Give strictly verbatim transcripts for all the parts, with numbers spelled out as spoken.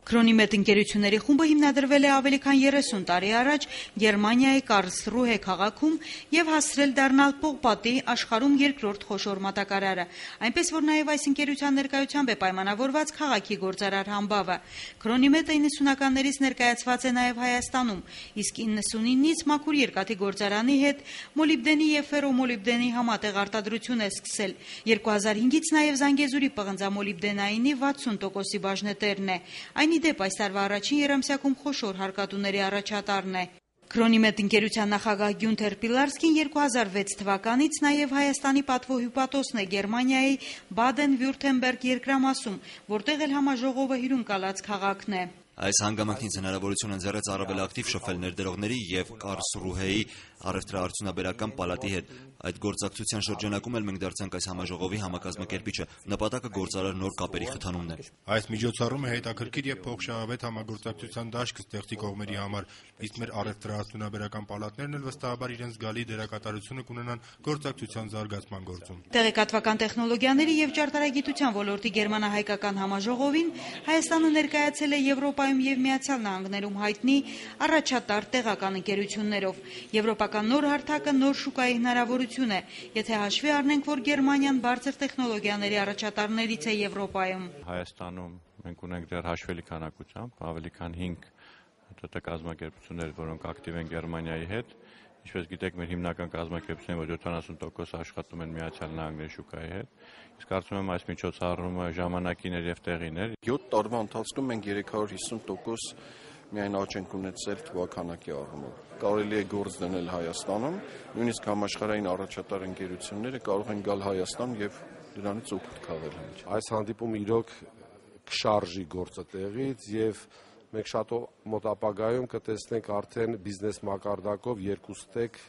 Քրոնիմետ ընկերությունների խումբը հիմնադրվել է ավելի քան երեսուն տարի առաջ Գերմանիայի Կարլսրուհե քաղաքում եւ հասցրել դառնալ Պողպատի աշխարհում երկրորդ խոշոր մատակարարը, այնպես որ նաեւ այս ընկերության ներկայությամբ է պայմանավորված քաղաքի գործարար համբավը։ Քրոնիմետը իննսունականներից ներկայացված է նաեւ Հայաստանում, իսկ իննսունինից մաքուր երկաթի գործարանի հետ մոլիբդենի եւ ֆերոմոլիբդենի համատեղ արտադրություն է սկսել։ երկու հազար հինգից նաեւ Զանգեզուրի պղնձամոլիբդենայինի վաթսուն տոկոսի բաժնետերն է։ Այն ի դեպ այս տարվա առաջին երամսյակում խոշոր հարկատուների առաջատարն է։ Քրոնիմետ ընկերության նախագահ Գյունթեր Պիլարսկին երկու հազար վեց թվականից նաև Հայաստանի պատվոհյուպատոսն է Գերմանիայի Բադեն-Վյուրթեմբերգ երկրամասում, որտեղ էլ համաժողովը հյուրընկալած քաղաքն է։ Այս հանգամանքից հնարավորություն ընձեռեց առավել ակտիվ շփվել ներդրողների եւ Կարլսրուհեի առևտրաարդյունաբերական պալատի հետ։ Այդ գործակցության շրջանակում էլ մենք դարձանք այս համաժողովի համակազմակերպիչը։ Նպատակը գործարար նոր կապերի խթանումն է։ Այս միջոցառումը հետաքրքիր եւ փոխշահավետ համագործակցության դաշտ կստեղծի կողմերի համար, իսկ մեր առևտրաարդյունաբերական պալատներն էլ վստահաբար իրենց զգալի դերակատարությունը կունենան գործակցության զարգացման գործում։ Տեղեկատվական տեխնոլոգիաների եւ ճարտարագիտության ոլորտի գերմանահայկական համաժողովին Հայաստանը ներկայացել է Եվրոպայում եւ Միացյալ Նահանգներում հայտնի առաջատար տեղական ընկերություններով։ Եվրոպական նոր հարթակը նոր շուկայի հնարավորություն է, եթե հաշվի առնենք, որ Գերմանիան բարձր տեխնոլոգիաների առաջատարներից է Եվրոպայում։ Հայաստանում մենք ունենք դեռ հաշվելի քանակությամբ ավելի քան հինգ ՏՏ կազմակերպություններ, որոնք ակտիվ են Գերմանիայի հետ։ Ինչպես գիտեք, մեր հիմնական կազմակերպությունները որ յոթանասուն տոկոս աշխատում են Միացյալ Նահանգների շուկայի հետ։ Իսկ կարծում եմ այս միջոցառումը ժամանակին էր եւ տեղին էր։ յոթ տարվա ընթացքում մենք երեք հարյուր հիսուն տոկոս միայն աճ ենք ունեցել թվականակի առումով։ Կարելի է գործ դնել Հայաստանում, նույնիսկ համաշխարհային առաջատար ընկերությունները կարող են գալ Հայաստան եւ դրանից օգուտ քաղել։ Այս հանդիպումը իրոք կշարժի գործը տեղից եւ մենք շատ մոտ ապագայում կտեսնենք արդեն բիզնես մակարդակով երկու ստեկ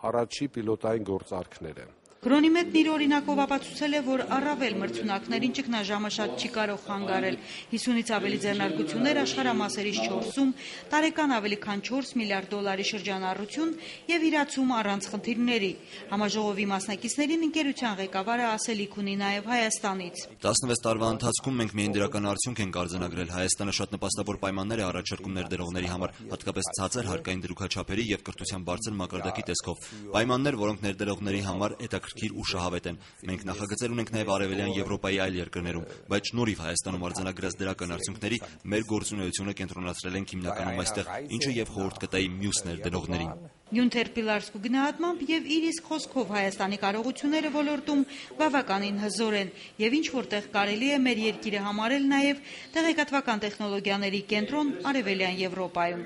առաջի պիլոտային գործարքները։ Քրոնիմետն իր օրինակով ապացուցել է, որ առավել մրցունակներին ճգնաժամը շատ չի կարող խանգարել։ հիսունից ավելի ձեռնարկություններ աշխարհամասերից չորսում, տարեկան ավելի քան չորս միլիարդ դոլարի շրջանառություն եւ իրացում առանց խնդիրների։ Համաժողովի մասնակիցներին ընկերության ղեկավարը ասելիք ունի նաեւ Հայաստանից։ տասնվեց տարվա ընթացքում մենք միայն դրական արդյունք ենք արձանագրել։ Հայաստանը շատ նպաստավոր պայմաններ է առաջարկում ներդրողների համար, հատկապես ցածր հարկային դրույքաչափերի եւ կրթության բարձր մակարդակի տեսքով։ Պայմաններ, որոնք ներդրողների համար հետաքրքիր ու շահավետ են։ Մենք նախագծել ունենք նաև Արևելյան Եվրոպայի այլ երկրներում, բայց շնորհիվ Հայաստանում արձանագրած դրական արդյունքների մեր գործունեությունը կենտրոնացրել ենք հիմնականում այստեղ, ինչը եւ խորհուրդ կտայի մյուս ներդրողներին։ Գյունթեր Պիլարսկու գնահատմամբ եւ իր իսկ խոսքով Հայաստանի կարողությունները ոլորտում բավականին հզոր են եւ ինչ որտեղ կարելի է մեր երկիրը համարել նաեւ տեղեկատվական տեխնոլոգիաների կենտրոն Արևելյան Եվրոպայում։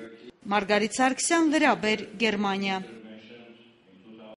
Մարգարիտ Սարգսյան, Լրաբեր, Գերմանիա։